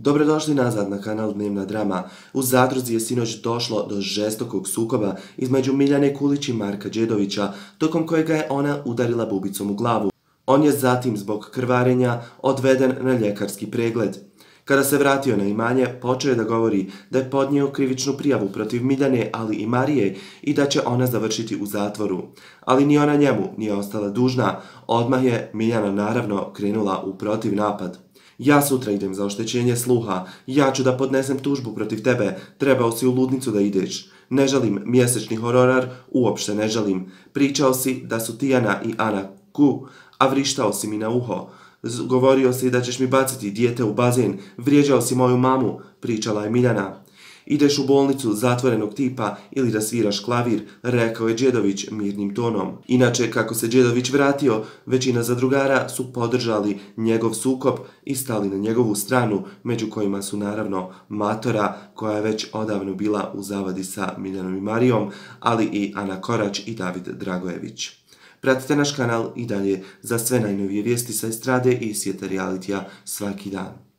Dobrodošli nazad na kanal Dnevna drama. U Zadruzi je sinoć došlo do žestokog sukoba između Miljane Kulić i Marka Đedovića, tokom kojega je ona udarila bubicom u glavu. On je zatim zbog krvarenja odveden na ljekarski pregled. Kada se vratio na imanje, počeo je da govori da je podnio krivičnu prijavu protiv Miljane, ali i Marije i da će ona završiti u zatvoru. Ali ni ona njemu nije ostala dužna, odmah je Miljana naravno krenula u protivnapad. Ja sutra idem za oštećenje sluha, ja ću da podnesem tužbu protiv tebe, trebao si u ludnicu da ideš. Ne žalim mjesečni hororar, uopšte ne žalim. Pričao si da su Tijana i Ana ku, a vrištao si mi na uho. Govorio si da ćeš mi baciti dijete u bazen, vrijeđao si moju mamu, pričala je Miljana. Ideš u bolnicu zatvorenog tipa ili da sviraš klavir, rekao je Đedović mirnim tonom. Inače, kako se Đedović vratio, većina zadrugara su podržali njegov sukob i stali na njegovu stranu, među kojima su naravno Matora, koja je već odavno bila u zavadi sa Miljanom i Marijom, ali i Ana Korać i David Dragojević. Pratite naš kanal i dalje za sve najnovije vijesti sa estrade i svijeta realitija svaki dan.